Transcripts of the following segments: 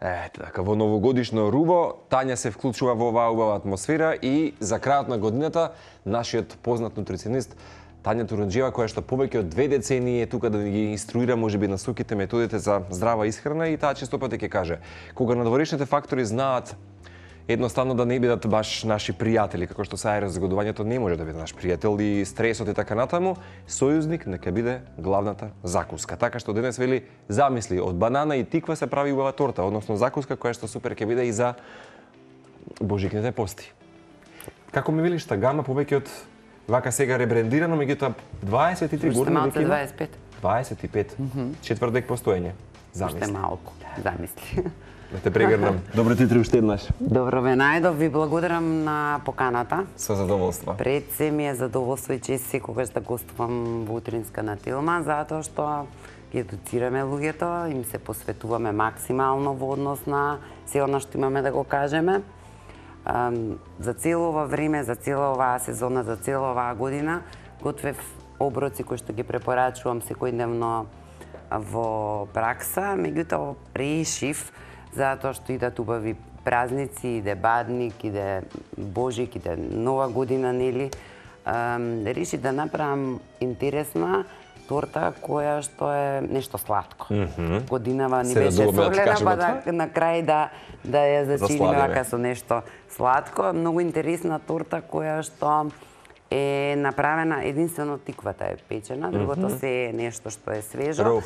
Ете така, во новогодишно руво, Тања се вклучува во оваа убава атмосфера и за крајот на годината нашиот познат нутриционист Тања Турунџиева, која што повеќе од 2 децении е тука да ги инструира можеби насоките, методите за здрава исхрана и таа често пати ќе каже, кога надворешните фактори знаат едноставно да не бидат баш наши пријатели, како што сај разгодувањето не може да биде наш пријател и стресот и така натаму, сојузник нека биде главната закуска. Така што денес вели замисли од банана и тиква се прави убава торта, односно закуска која што супер ќе биде и за божикните пости. Како ми велиш та гама повеќе од вака сега ребрендирано, меѓутоа 23 години веќе има? 25. 25. Четвртек постоење. Замисли. Уште малку. Замисли. Да те прегрнам. Добро ти уште еднаш. Добро ве најдов, ви благодарам на поканата. Со задоволство. Пред се ми е задоволство и чест секогаш да гостувам во Утринска на Тилман, затоа што ги едуцираме луѓето, им се посветуваме максимално во однос на се она што имаме да го кажеме. За цело ова време, за цела оваа сезона, за цела оваа година, готвев оброци кои што ги препорачувам секојдневно во пракса, меѓутоа решив, затоа што идат убави празници, иде Бадник, иде Божик, иде Нова година, нели, решив да направам интересна торта која што е нешто сладко. Годинава ни беше согледа, па на крај да ја зачиниме вака со нешто сладко. Многу интересна торта која што е направена, единствено тиквата е печена, другото се е нешто што е свежо,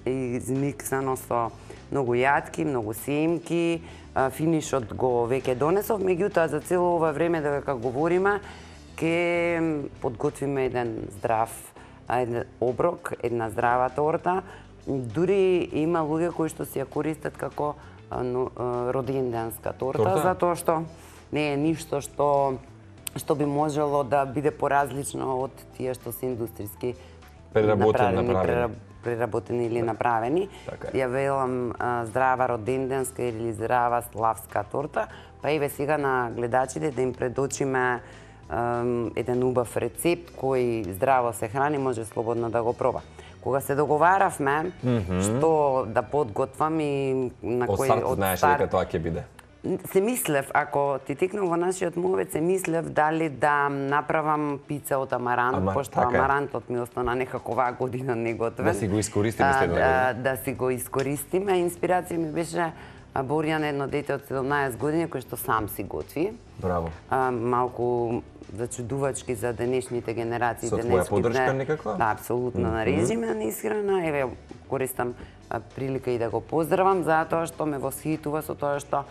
измиксано со многу јатки, многу семки, финишот го веќе донесов, меѓутоа за цело ова време додека говориме, ќе подготвиме еден здрав оброк, една здрава торта. Дури има луѓе кои што си ја користат како роденденска торта, затоа што не е ништо што би можело да биде поразлично од тие што се индустријски преработени или направени. Ја велам здрава роденденска или здрава славска торта, па еве сега на гледачите да им предочиме еден убав рецепт кој здраво се храни, може слободно да го проба. Кога се договаравме што да подготвам и на кој од старт знаеш дека тоа ќе биде. Се мислев, ако ти текнам во нашиот мовец, се мислев дали да направам пица од амарант, пошто амарантот ми остана некако оваа година неготвен. Да си го искористиме следна. Да си го искористиме. Инспирација ми беше Борјан, едно дете од 17 години, кој што сам си готви. Браво. Малку зачудувачки за денешните генерации. Со твоја поддршка некаква? Да, апсолутно на режиме на исхрана. Еве, користам прилика и да го поздравам, затоа што ме восхитува со тоа што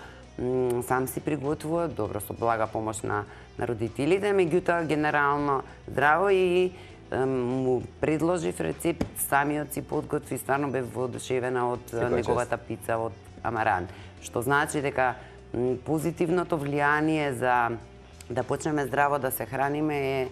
сам си приготвува, добро со блага помош на родителите, меѓутоа генерално здраво и му предложив рецепт, самиот си подготви, стварно бев воодушевена од неговата пица од амарант. Што значи дека позитивното влијание за да почнеме здраво да се храниме е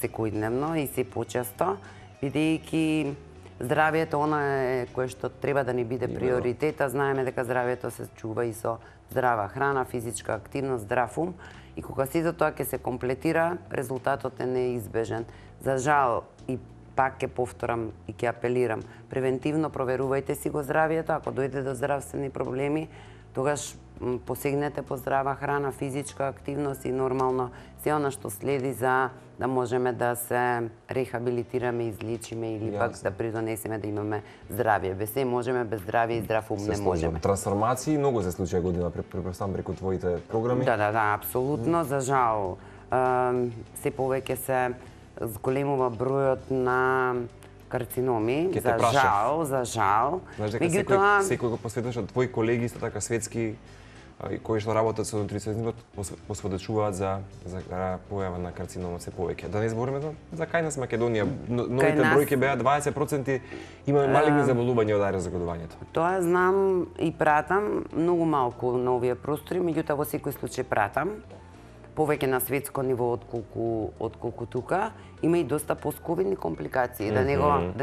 секојдневно и се почесто, бидејќи здравието она е кое што треба да ни биде приоритет, а знаеме дека здравието се чува и со здрава храна, физичка активност, здрав ум, и кога сите тоа ќе се комплетира, резултатот е неизбежен. За жал, и пак ќе повторам и ќе апелирам, превентивно проверувајте си го здравието, ако дојде до здравствени проблеми, тогаш посегнете по здрава храна, физичка активност и нормално се она што следи за да можеме да се рехабилитираме, излечиме или пак да придонесеме да имаме здравје. Без се можеме, без здравје и здрав ум не можеме. Трансформации многу се случија година преку твоите програми. Да, апсолутно. За жал, се повеќе се зголемува бројот на карциноми, за жал. Знаеш дека секој го посветуваш од твои колеги исто така светски кои што работат со нутриционизмот посведочуваат за појава на карциномот се повеќе. Да не збориме за кај нас Македонија, новите бројки беа 20%, имаме малигни заболувања од аерозагодувањето. Тоа знам и пратам многу малку на овие простори, меѓутоа во секој случај пратам повеќе на светско ниво отколку тука. Има и доста постковидни компликации, да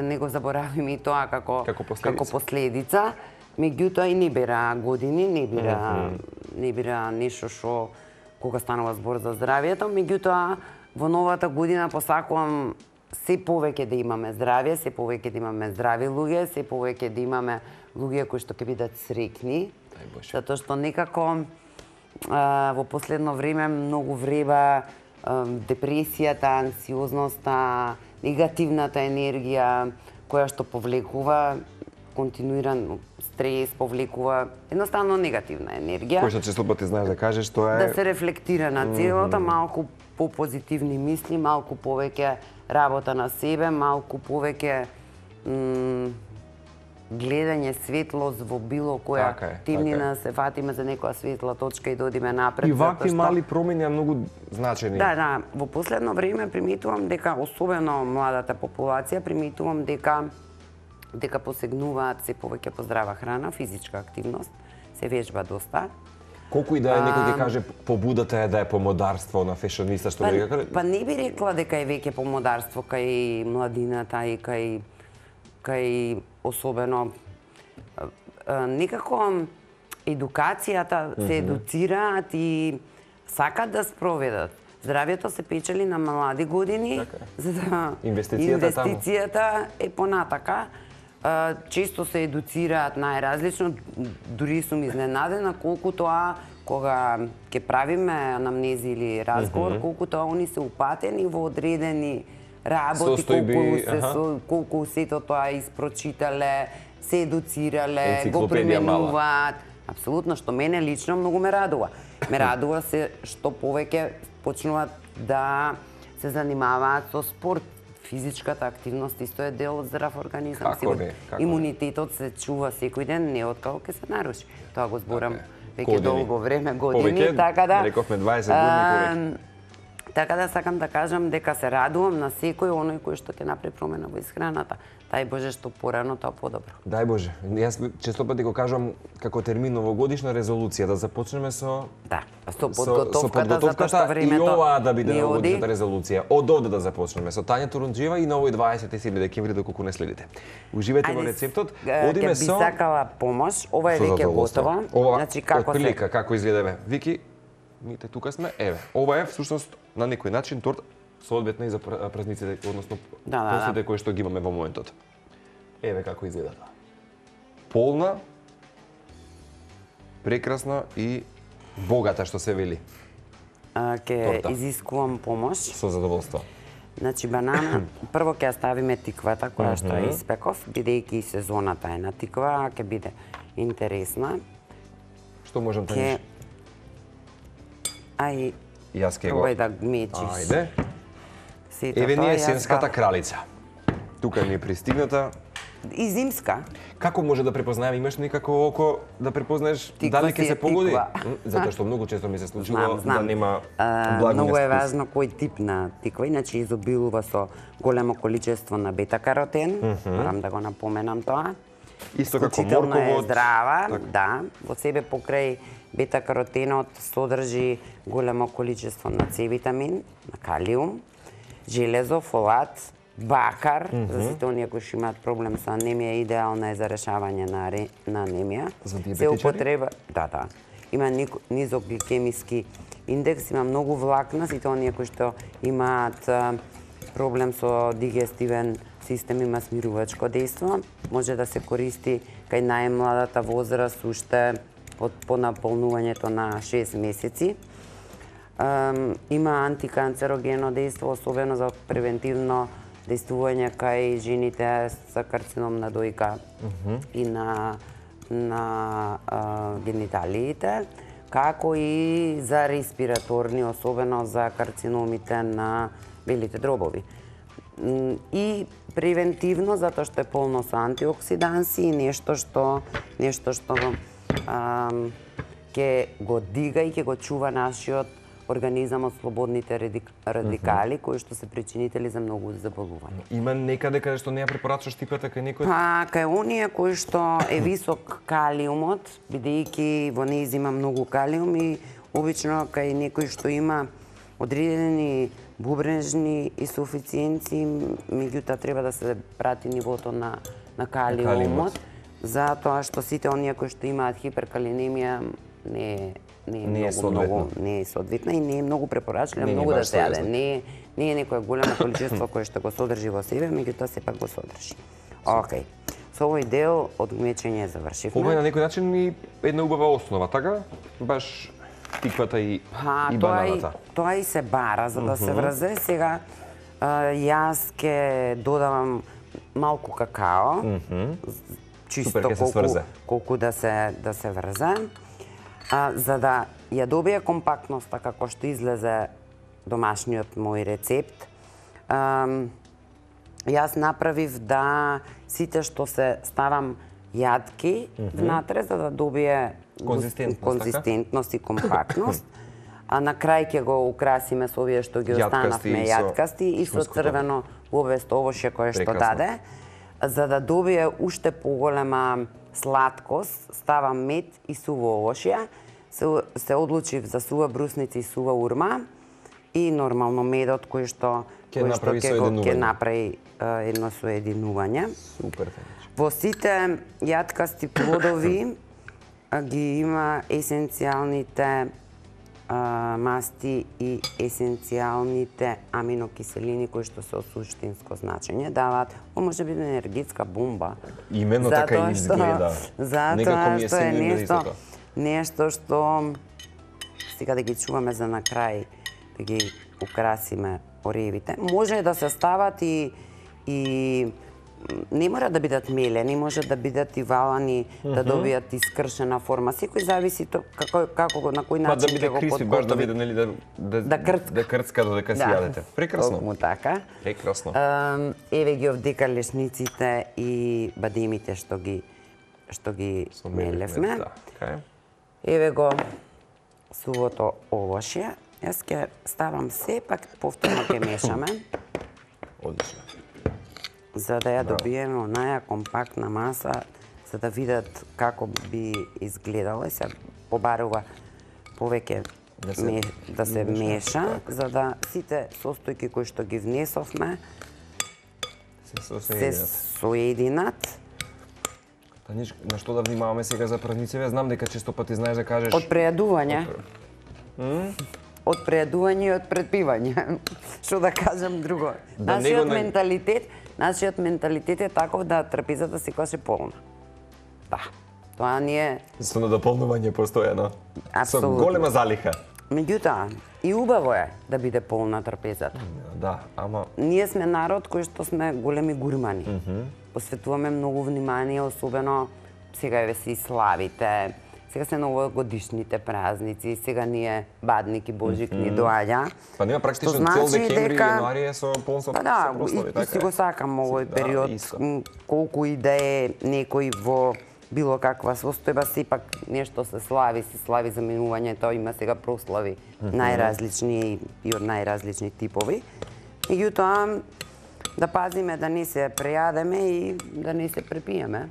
не го заборавиме и тоа како последица. Меѓутоа и не бера години, не бера нешто што кога станува збор за здравието, меѓутоа во новата година посакувам се повеќе да имаме здравје, се повеќе да имаме здрави луѓе, се повеќе да имаме луѓе кои што ќе бидат среќни, затоа што некако во последно време многу вреба депресијата, анксиозноста, негативната енергија која што повлекува континуиран стрес, повлекува едноставно негативна енергија. Кој што често пати знаеш да кажеш, тоа е да се рефлектира на целото, малку попозитивни мисли, малку повеќе работа на себе, малку повеќе гледање светлост во било која темнина, се фатиме за некоја светла точка и да одиме напред. И вакви мали промени многу значени. Да, во последно време приметувам дека особено младата популација приметувам дека посегнуваат се повеќе по здрава храна, физичка активност, се вежба доста. Колку и да е некој ќе каже побудата е да е помодарство на фешониста што Па не би рекла дека е веќе помодарство кај младината и кај особено некако едукацијата се едуцираат и сакат да спроведат. Здравјето се печели на млади години, за да инвестицијата е понатака. Често се едуцираат најразлично, дури сум изненадена колку тоа кога ќе правиме анамнези или разговор, колку тоа они се упатени во одредени работи, колку сето тоа испрочитале, се едуцирале, го применуваат. Апсолутно, што мене лично многу ме радува. Ме радува се што повеќе почнуваат да се занимаваат со спорт. Физичката активност исто е дел од здрав организам. Имунитетот се чува секој ден, не откако ќе се наруши. Тоа го зборам веќе долго време, години, така да рековме 20 години. Така да сакам да кажам дека се радувам на секој оној кој што ќе направи промена во исхраната. Дај Боже што порано, тоа подобро. Дај Боже. Јас често пати го кажам како термин новогодишна резолуција, да започнеме со со подготовката, затоа што времето и ова да биде новогодишната резолуција. Од овде да започнеме со Тања Турунџиева и на овој 27 декември доколку не следите. Уживајте во рецептот. Одиме со би сакала помош. Ова е веќе готова. Значи како изгледа, Вики? Мите тука сме. Еве, ова е всушност на некој начин торта соодветна и за празниците, односно постите кои што ги имаме во моментот. Еве како изгледа тоа. Полна, прекрасна и богата, што се вели. Ке изискувам помош. Со задоволство. Значи банана, прво ќе ставиме тиквата која што ја испеков, бидејќи сезоната е на тиква, ќе биде интересна. Што можам да кажеш? Јас ке го. Пробај да мечиш. Ајде. Еве ни е есенската кралица. Тука ми е пристигната. И зимска. Како може да препознаеме, имаш некако око да препознаеш дали ќе се погоди? Затоа што многу често ми се случува да нема благо. Многу е важно кој тип на тиква, иначе изобилува со големо количество на бета-каротен. Морам да го напоменам тоа. Исто како морковот. Е здрава, да. Во себе покрај бета-каротенот содржи големо количество на С витамин, на калиум, железо, фолат, бакар, за сите оние кои што имаат проблем со анемија, идеална е за решавање на анемија. За диабетичари? Да. Има низок гликемиски индекс, има многу влакна, сите оние кои што имаат проблем со дигестивен систем, има смирувачко дејство, може да се користи кај најмладата возраст уште по наполнувањето на 6 месеци. Има антиканцерогено дејство, особено за превентивно дејствување кај жените со карцином на дојка и на гениталиите, како и за респираторни, особено за карциномите на белите дробови. И превентивно, затоа што е полно со антиоксиданси и нешто што ќе го дига и ќе го чува нашиот организам од слободните радикали, кои што се причинители за многу заболувања. Има некаде каде што не ја препорачуваш тиквата кај некој? Па, кај оние кои што е висок калиумот, бидејќи во нејз има многу калиум и обично кај некој што има одредени бубрежни инсуфициенции, меѓутоа треба да се прати нивото на калиумот, затоа што сите оние кои што имаат хиперкалинемија не е соодветна и не е многу препорачлива, многу да се јаде. Не е некое големо количество кое што го содржи во себе, меѓутоа сепак го содржи. Океј. Со овој дел од гмечење завршивме. Ова е на некој начин и една убава основа, така? Баш тиквата и бананата. Тоа и се бара за да се врзе. Сега јас ќе додавам малку какао. Чисто колку да се врзе. За да ја добие компактноста како што излезе домашниот мој рецепт. Јас направив да сите што се ставам јадки внатре за да добие конзистентност и компактност. А на крај ќе го украсиме со овие што ги останавме јаткасти и со црвено лобесто овошје кое што даде. За да добие уште поголема сладкост, ставам мед и суво овошје. Се одлучив за сува брусница и сува урма и нормално медот кој што ќе направи едно соединување. Супер. Во сите јаткасти плодови ги има есенцијалните масти и есенцијалните аминокиселини кои што се од суштинско значење даваат, може би енергетска бомба. Именно така изгледа. Затоа што е нешто што сега да ги чуваме за на крај, да ги украсиме оревите. Може да се стават и не мора да бидат мелени, може да бидат и валани, да добијат искршена форма. Секој зависи како на кој начин ќе го подготви. Баш да биде нели да крцка додека си јадете. Прекрасно. Токму така. Прекрасно. Еве ги овдека лешниците и бадемите што ги мелевме. Еве го сувото овошје. Јас ќе ставам сепак повторно ќе мешаме. Одлично. За да ја добиеме онаја компактна маса, за да видат како би изгледала, се побарува повеќе да се меша, за да сите состојки кои што ги внесовме се соединат. Таниш, на што да внимаваме сега за празниците? Знам дека често пати знаеш да кажеш... Од прејадување. Од прејадување и од предпивање. Што да кажам друго. Нашиот менталитет е таков да трапезата секогаш е полна. Да. Тоа ни е... Со надополнување постојано. Со голема залиха. Меѓутоа, и убаво е да биде полна трапезата. Да, ама... Ние сме народ кој што сме големи гурмани. Посветуваме многу внимание, особено сега еве се и славите, сега се новогодишните празници, сега ние Бадник и Божик ни доаѓа. Па нема практично цел декември и јануари е со полн со прослави, така е. И си го сакам овој период, колку и да е некој во било каква состојба, сепак нешто се слави за минувањето, има сега прослави најразлични и од најразлични типови. Меѓутоа, да пазиме да не се прејадеме и да не се препиеме.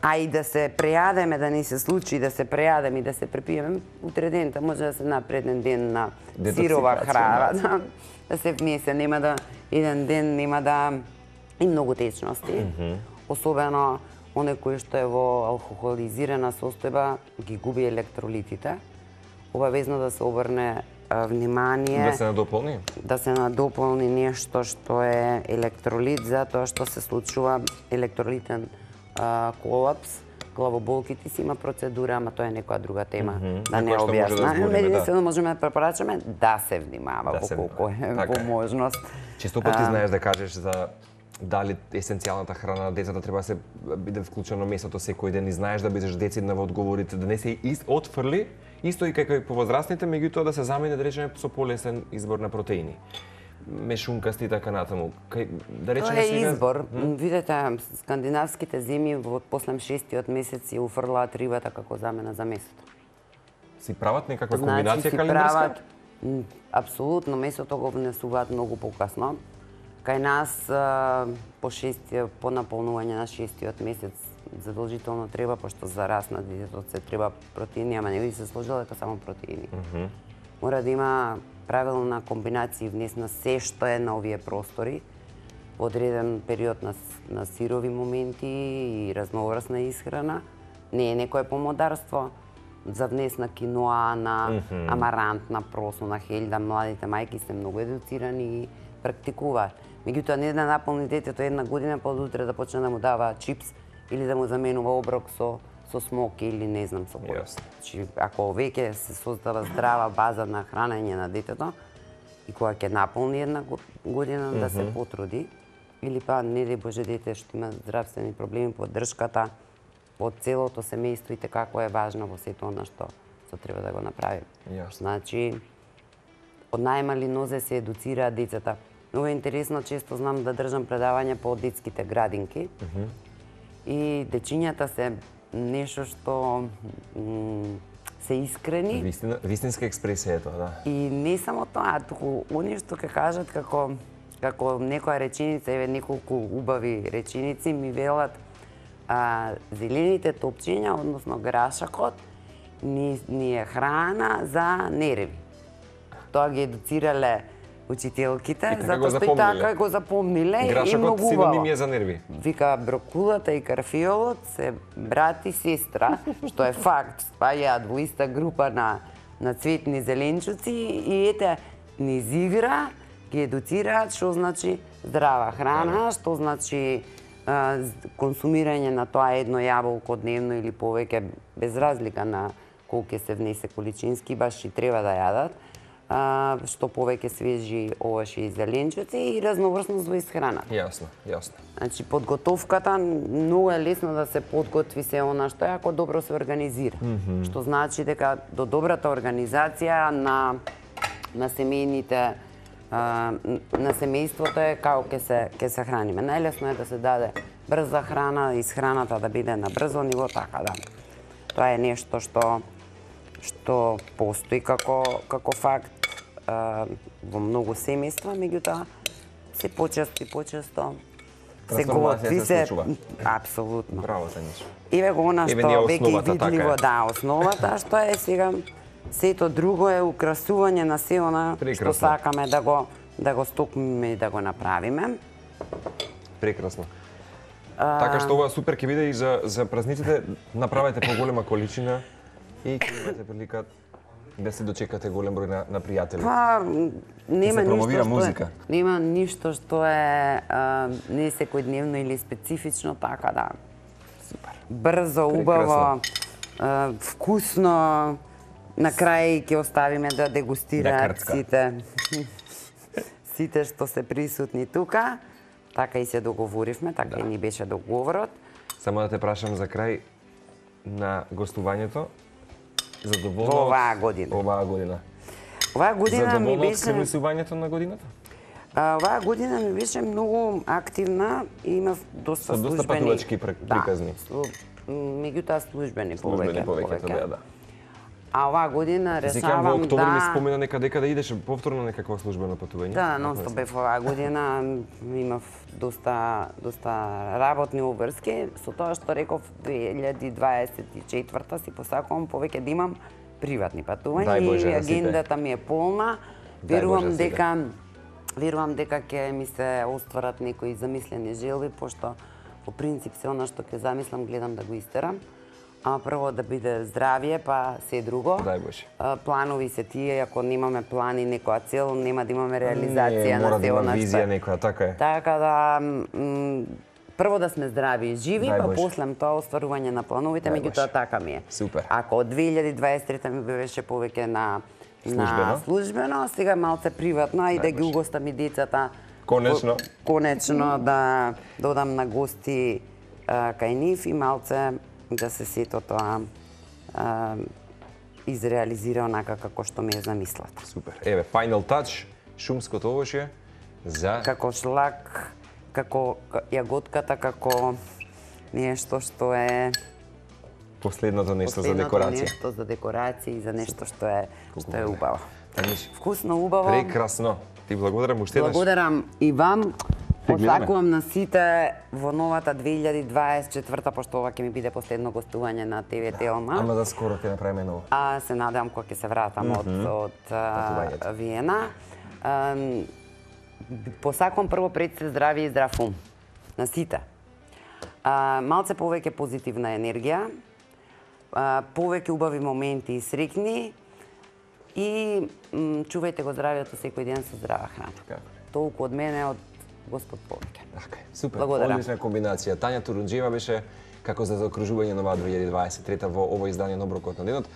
А и да се прејадеме, да не се случи да се прејадеме и да се препиеме, утре дента може да се напреден ден на сирова храна, да се внесе, нема да еден ден нема да и многу течности. Особено оној кој што е во алкохолизирана состојба ги губи електролитите. Обавезно да се обрне внимание. Да се надополни? Да се надополни нешто што е електролит, затоа што се случува електролитен колапс, главоболките си има процедура, ама тоа е некоја друга тема, да не објаснам. Единствено можеме да препорачаме да се внимава колку е во можност. Често пати знаеш да кажеш за дали есенцијалната храна на децата треба да се биде вклучено месото секој ден и знаеш да бидеш децидна во одговорите, да не се отфрли, исто и како и по возрастните, меѓутоа да се замени да речеме со полесен избор на протеини. Мешункасти и така натаму. Да речеме тоа е избор. Видете, скандинавските земји во после 6-тиот месец ја уфрлаат рибата како замена за месото. Си прават некаква комбинација календарска? Апсолутно, месото го внесуваат многу покасно. Кај нас по наполнување на 6-тиот месец задолжително треба, пошто за раст на детето се треба протеини, ама не би се сложило дека само протеини. Мора да има правилна комбинација внесна се што е на овие простори во одреден период на сирови моменти и разноврсна исхрана. Не е некое помодарство, за внес на киноа, на амарант, на просо, на хелда, младите мајки се многу едуцирани и практикуваат. Меѓутоа не да наполни детето една година, па од утре да почне да му дава чипс или да му заменува оброк со смок или не знам со кој. Значи, ако веќе се создава здрава база на хранење на детето и кога ќе наполни една година да се потруди, или па не дај Боже дете што има здравствени проблеми, поддршката од целото семејство и како е важно во сето она што треба да го направи. Значи, од најмали нозе се едуцираат децата. Много е интересно, често знам да држам предавања по детските градинки и дечињата се нешто што се искрени. Вистинска експресија е тоа, да. И не само тоа, туку они што ќе кажат како некоја реченица, еве неколку убави реченици ми велат зелените топчиња, односно грашакот, ни е храна за нерви. Тоа ги едуцирале учителките, затоа што и така го запомниле и многу убаво. Грашакот синоним е за нерви. Вика, брокулата и карфиолот се брат и сестра, што е факт, спаѓаат во иста група на цветни зеленчуци и ете, низ игра ги едуцираат што значи здрава храна, што значи консумирање на тоа едно јаболко дневно или повеќе, без разлика на колку ќе се внесе количински, баш и треба да јадат, што повеќе свежи овошје и зеленчуци и разноврсност во исхраната. Јасно. Значи, подготовката многу е лесно да се подготви се она што е ако добро се организира. Што значи дека до добрата организација на семејните на семејството е како ќе се храниме. Најлесно е да се даде брза храна, исхраната да биде на брзо ниво, така да. Тоа е нешто што постои како факт во многу семејства, меѓутоа се почесто се готви се апсолутно. Браво, Тањичо. Еве го она што веќе видливо, да, основата што е сега. Сето друго е украсување на се она што сакаме да го стокмиме и да го направиме. Прекрасно. Така што ова супер ќе биде и за празниците, направете поголема количина и ќе имате прилика да се дочекате голем број на пријатели. Па, нема ништо што е не секојдневно или специфично, така да. Супер. Брзо, убаво, вкусно. На крај ќе оставиме да дегустираат сите што се присутни тука. Така и се договоривме, така и ни беше договорот. Само да те прашам за крај на гостувањето. Задоволна во оваа година. Оваа година ми беше скрмисувањето на годината? Оваа година ми беше многу активна и имав доста службени. Доста патувачки приказни. Меѓутоа службени повеќе. Да. А оваа година решавам во октомври ми спомена дека да идеш повторно некакво службено патување. Да, нонстоп бев оваа година, имав доста работни обврски, со тоа што реков 2024 си посакувам повеќе да имам приватни патувања и агендата ми е полна. Верувам дека ќе ми се остварат некои замислени желби, пошто по принцип се она што ќе замислам гледам да го истерам. Прво да биде здравје, па се друго. Дај Боже. Планови се тие, ако немаме плани, некоја цел, нема да имаме реализација на се она што. Визија некоја, така е. Така да прво да сме здрави и живи, па после тоа остварување на плановите, меѓутоа така ми е. Супер. Ако од 2023 ми беше повеќе на службено, сега малце приватно и да ги угостам и децата. Конечно да додам на гости кај нив и малце да се сето тоа изреализира онака како што ми е замислата. Супер. Еве, final touch, шумското овошје за... Како шлак, како јаготката, како нешто што е... Последното нешто за декорација. Нешто за декорација и за нешто што е убаво. Вкусно, убаво. Прекрасно. Ти благодарам уште еднаш. Благодарам и вам. Посакувам на сите во новата 2024, пошто ова ќе ми биде последно гостување на ТВ Телма. Ама да скоро ќе направиме ново. Се надевам кога ќе се вратам од Виена. Посакувам прво пред се здравје и здрав ум. На сите. Малце повеќе позитивна енергија. повеќе убави моменти и среќни и чувајте го здравието секој ден со здрава храна. Толку од мене, од Господ повеќе. Така, супер. Благодарам. Одлична комбинација. Тања Турунџиева беше како за заокружување на 2023 во ово издание на Оброкот на денот.